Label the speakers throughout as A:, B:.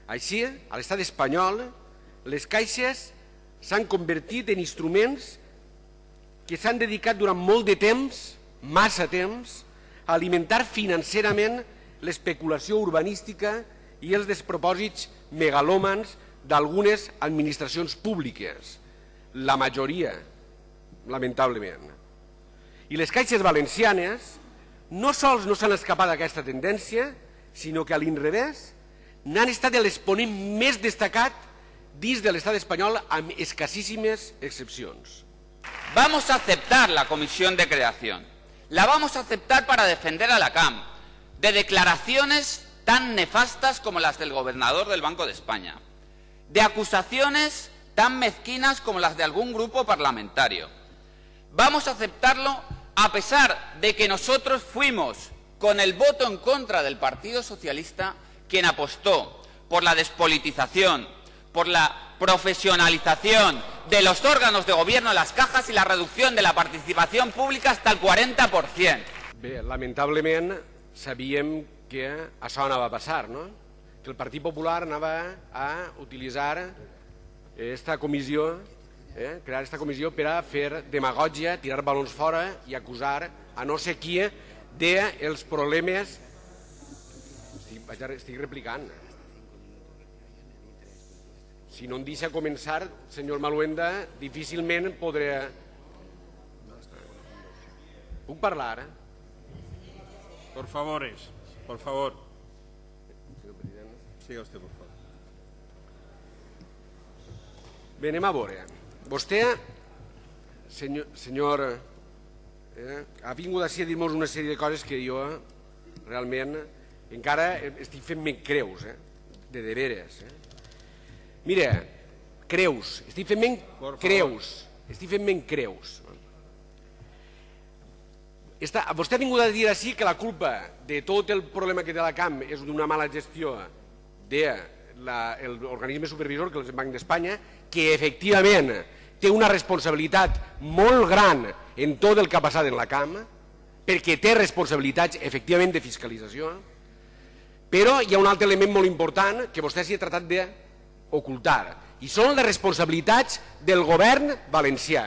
A: Així, a l'estat espanyol, les caixes s'han convertit en instruments que s'han dedicat durant molt de temps, massa temps, a alimentar financerament l'especulació urbanística i els despropòsits megalòmans d'algunes administracions públiques, la majoria, lamentablement. I les caixes valencianes no sols no s'han escapat d'aquesta tendència, sinó que a l'inrevés n'han estat l'exponent més destacat dins de l'estat espanyol amb escassíssimes excepcions.
B: Vamos a aceptar la comisión de creación. La vamos a aceptar para defender a la CAM de declaraciones tan nefastas como las del gobernador del Banco de España, de acusaciones tan mezquinas como las de algún grupo parlamentario. Vamos a aceptarlo a pesar de que nosotros fuimos, con el voto en contra del Partido Socialista, quien apostó por la despolitización, por la profesionalización de los órganos de gobierno, las cajas y la reducción de la participación pública hasta el 40%.
A: Bé, lamentablement sabíem que això anava a passar, no? Que el Partit Popular anava a utilitzar esta comissió, crear esta comissió per a fer demagògia, tirar balons fora i acusar a no sé qui dels problemes. Estic replicant. Si no em deixa començar, senyor Maluenda, difícilment podré... Puc parlar?
C: Por favor. Siga usted, por favor.
A: Bé, anem a veure. Vostè, senyor, ha vingut així a dir-nos una sèrie de coses que jo realment encara estic fent-me creus, de veres. Mira, creus, estic fent-me creus. Vostè ha vingut a dir així que la culpa de tot el problema que té la CAM és d'una mala gestió de l'organisme supervisor, que és el Banc d'Espanya, que efectivament té una responsabilitat molt gran en tot el que ha passat en la CAM, perquè té responsabilitats efectivament de fiscalització, però hi ha un altre element molt important que vostè s'hi ha tratat d'ocultar, i són les responsabilitats del govern valencià.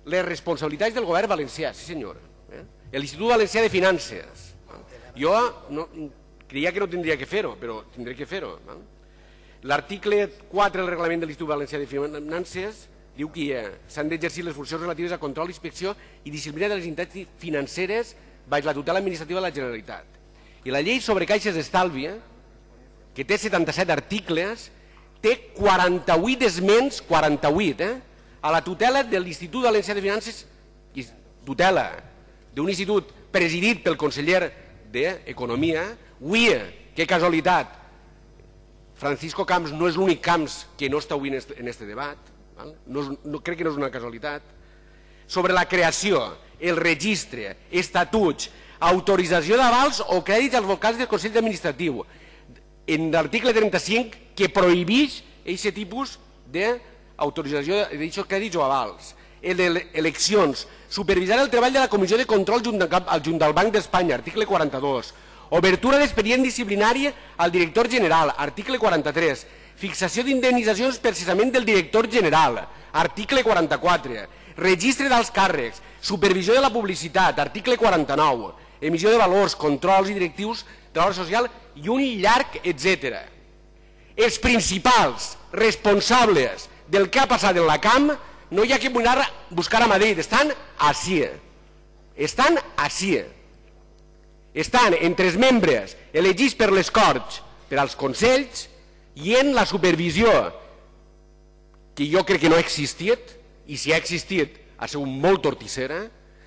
A: Les responsabilitats del govern valencià, sí senyor. L'Institut Valencià de Finances. Jo creia que no tindria que fer-ho, però tindré que fer-ho. L'article 4 del reglament de l'Institut Valencià de Finances diu que s'han d'exercir les funcions relatives a control, inspecció i disciplina de les entitats financeres baix la tutela administrativa de la Generalitat. I la llei sobre caixes d'estalvi, que té 77 articles, té 48 esments, 48, a la tutela de l'Institut Valencià de Finances, tutela d'un institut presidit pel conseller d'Economia. Avui, que casualitat, Francisco Camps no és l'únic Camps que no està avui en aquest debat, crec que no és una casualitat, sobre la creació, el registre, estatuts, autorització d'avals o crèdits als vocals del Consell Administratiu, en l'article 35 que prohibeix aquest tipus d'autorització d'aquests crèdits o avals, eleccions, supervisar el treball de la Comissió de Control junt del Banc d'Espanya, article 42, obertura d'expedient disciplinari al director general, article 43, fixació d'indemnitzacions per cessament del director general, article 44, registre dels càrrecs, supervisió de la publicitat, article 49, emissió de valors, controls i directius de l'obra social i un llarg etc. Els principals responsables del que ha passat en la CAM no hi ha que buscar a Madrid, estan ací. Estan ací. Estan entre els membres elegits per les Corts, per als Consells, i en la supervisió, que jo crec que no ha existit, i si ha existit ha sigut molt tortissera,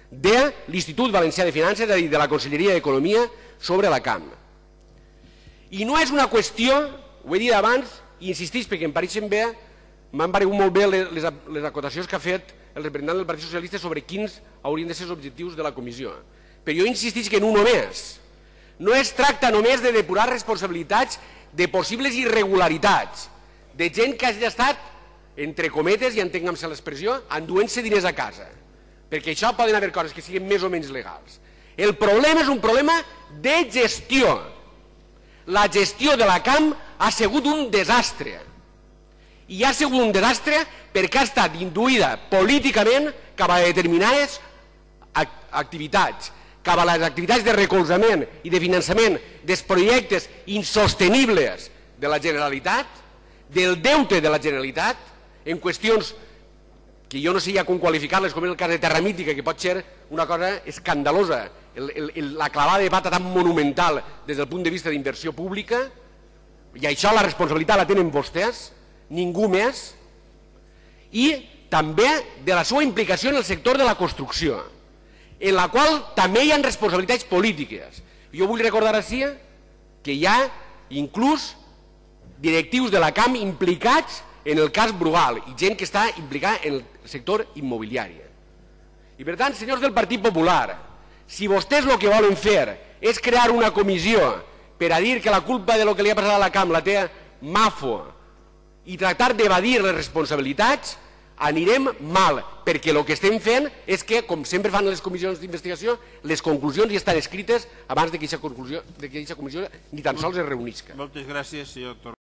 A: de l'Institut Valencià de Finances, és a dir, de la Conselleria d'Economia, sobre la CAM. I no és una qüestió, ho he dit abans, i insistís perquè em pareixen bé, m'han paregut molt bé les acotacions que ha fet el representant del Partit Socialista sobre quins haurien de ser els objectius de la comissió. Però jo insistís que en un només. No es tracta només de depurar responsabilitats de possibles irregularitats, de gent que hagi estat, entre cometes, i entenguem-se l'expressió, enduent-se diners a casa. Perquè això poden haver coses que siguin més o menys legals. El problema és un problema de gestió. la gestió de la CAM ha sigut un desastre. I ha sigut un desastre perquè ha estat induïda políticament cap a determinades activitats, cap a les activitats de recolzament i de finançament dels projectes insostenibles de la Generalitat, del deute de la Generalitat, en qüestions que jo no sé ja com qualificar-les, com és el cas de Terra Mítica, que pot ser una cosa escandalosa, la clavada de pata tan monumental des del punt de vista d'inversió pública, i això la responsabilitat la tenen vostès, ningú més, i també de la seva implicació en el sector de la construcció, en la qual també hi ha responsabilitats polítiques. Jo vull recordar així que hi ha inclús directius de la CAM implicats en el cas Brugal i gent que està implicada en el sector immobiliari. I per tant, senyors del Partit Popular, si vostès el que volen fer és crear una comissió per a dir que la culpa de lo que li ha passat a la CAM la té Mafo i tractar d'evadir les responsabilitats, anirem mal, perquè el que estem fent és que, com sempre fan les comissions d'investigació, les conclusions ja estan escrites abans que aquesta comissió ni tan sols es reunisca.
C: Moltes gràcies, senyor Torra.